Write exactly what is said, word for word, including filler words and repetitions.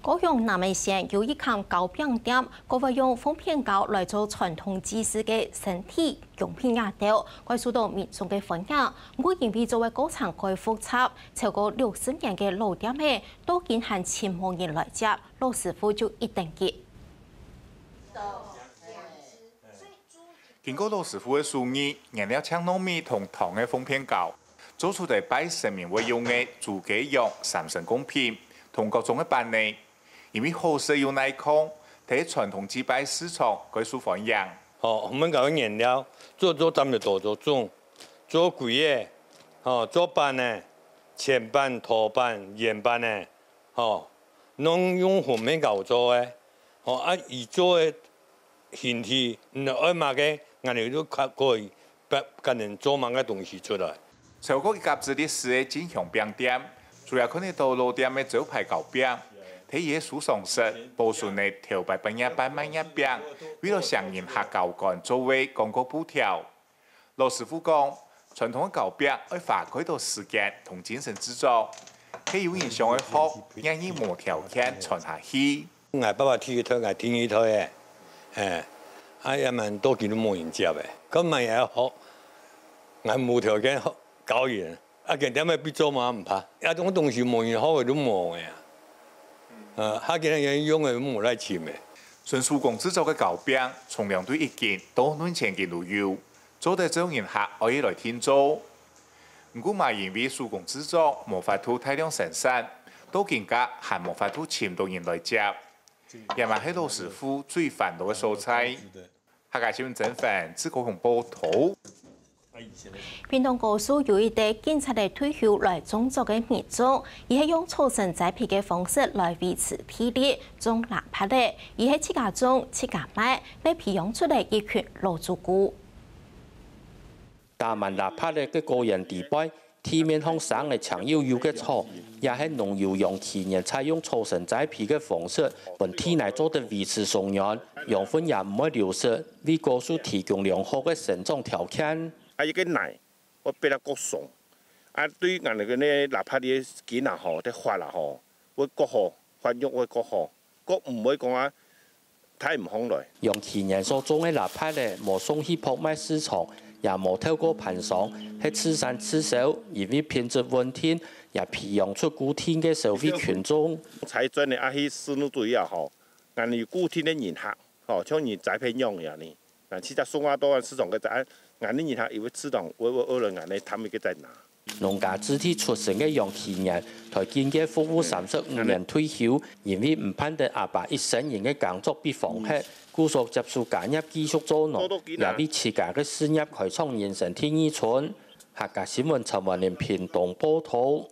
高雄南門線有一間糕餅店，佢會用鳳片糕來做傳統祭祀个身體用品架兜，蓋受到民眾个歡迎。毋過因為做个過程蓋複雜，超過六十年个老店仔，到今還盡無人來接，老師傅就一等急。 經過老師傅个手藝，原料淨糯米同糖个鳳片糕，做出來拜神明會用个豬雞羊三牲供品，同各種个粄仔。因為好食又耐囥，在傳統祭拜市場蓋受歡迎。吼，鳳片糕个原料，做做針就做做種，做粿仔，吼，做粄仔，淺粄、沱粄、圓粄仔，吼，攏用鳳片糕做个，吼，啊，佢做个 形體，你愛麼个，𠊎兜就可以，可能做麼个東西出來。超過一甲子歷史个進香餅店，主要看得到老店个招牌糕餅，在佢个手上食，保存了頭擺半夜半賣月餅，為了餳人客交關做个廣告布條。 老師傅講，傳統个糕餅愛花蓋多時間同精神製作，係有人想愛學，也係無條件傳下去。𠊎爸爸第一代，𠊎第二代个，嘿，啊，也蠻多間都無人接个，該麼也愛學，𠊎無條件學教人，啊，佢店仔必做嘛毋怕，啊，這種東西無人學个都無个啊，呃，下今日用个都無來尋个。純手工製作个糕餅，重量對一斤到兩千斤都有。 做得招人客愛來訂做。毋過嘛因為手工製作無法度大量生產，到今下還無法度尋到人來接，這嘛係老師傅最煩惱个所在。客家新聞曾凡，自高雄報導。屏東高樹有一個警察个退休來種作个民眾，佢係用草繩栽培个方式來維持體力，種抐菝仔，佢係自家種、自家賣，乜培養出來一群老主顧。 打滿抐菝仔个果園地背，地面項生个青幼幼个草，也係農友楊啟年採用草繩栽培个方式，分地泥做得維持鬆軟，養分也毋會流失，為果樹提供良好个生長條件。啊，一個泥會變得較鬆，啊，對𠊎等个呢，抐菝仔个根啊吼，个發啊吼，會較好，發育會較好，較毋會講啊， 抬毋䟘來。楊啟年所種个抐菝仔無送去拍賣市場，也無透過盤商，係自產自銷，因為品質穩定，也培養出固定个消費群眾。採摘呢，啊，去市場主要吼，𠊎等有固定个人客，吼，像人栽培樣樣呢，𠊎等自家送啊到市場个，啊，𠊎等人客因為市場會會餓了，𠊎等攤位个在哪。 農家子弟出身个楊啟年，在警界服務三十五年退休，因為毋盼得阿爸一生人个工作被荒忒，故所接受家業繼續做農，也為自家个事業開創人生第二春。客家新聞陳文玲屏東報導。